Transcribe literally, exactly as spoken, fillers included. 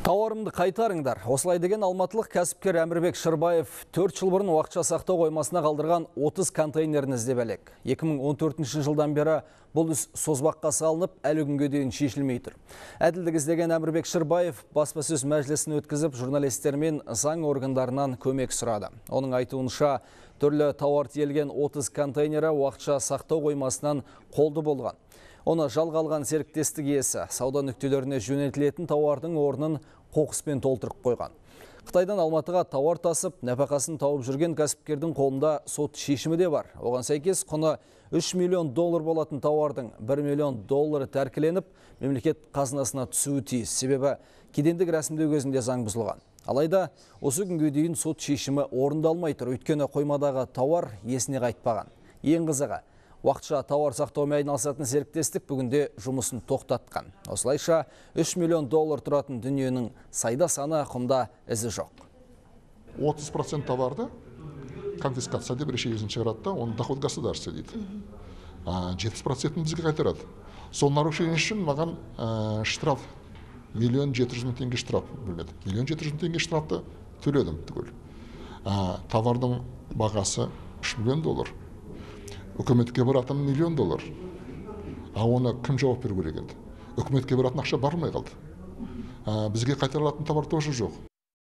Тауарымды қайтарыңдар. Осылай деген алматылық кәсіпкер Әмірбек Шырбаев төрт жыл бұрын уақытша сақтау қоймасына қалдырған отыз контейнерін іздеп әлек. екі мың он төртінші жылдан бері бұл іс созбаққа салынып, әлі күнге дейін шешілмей тұр. Әділдік іздеген Әмірбек Шырбаев баспасөз мәжілісін өткізіп, журналистермен заң органдарынан көмек сұрады. Оның айтуынша, түрлі тауар тиелген отыз контейнері уақытша сақтау қоймасынан қолды болған. Оны жалға алған серіктестік иесі сауда нүктелеріне жөнелтілетін тауардың орнын қоқыспен толтырып қойған. Қытайдан Алматыға тауар тасып, нәпақасын тауып жүрген кәсіпкердің қолында сот шешімі де бар. Оған сәйкес құны үш миллион доллар болатын тауардың бір миллион доллары тәркіленіп, мемлекет қазынасына түсуі тиіс. Себебі кедендік рәсімдеу кезінде заң бұзылған. Алайда осы күнге дейін сот шешімі орындалмай тұр. Өйткені қоймадағы тауар есіне қайтпаған. Ең қызығы, уақытша тауар сақтаумен айналысатын серіктестік бүгінде жұмысын тоқтатқан. Осылайша үш миллион доллар тұратын дүниенің сайда саны құмда ізі жоқ. отыз процент товарды конфискация деп решениесін шығарады да, оны доход государства дейді. жетпіс процентін бізге қайтарады. Сол нарушение үшін маған штраф миллион жеті жүз мың теңге штраф бөлінеді. миллион жеті жүз мың теңге штрафты төледім түгел. Товардың бағасы үш миллион доллар. Үкіметке баратын миллион доллар. А оны кім жауап беру керек еді? Үкіметке баратын ақша бармай қалды. Бізге қайтарылатын товар тоже жоқ.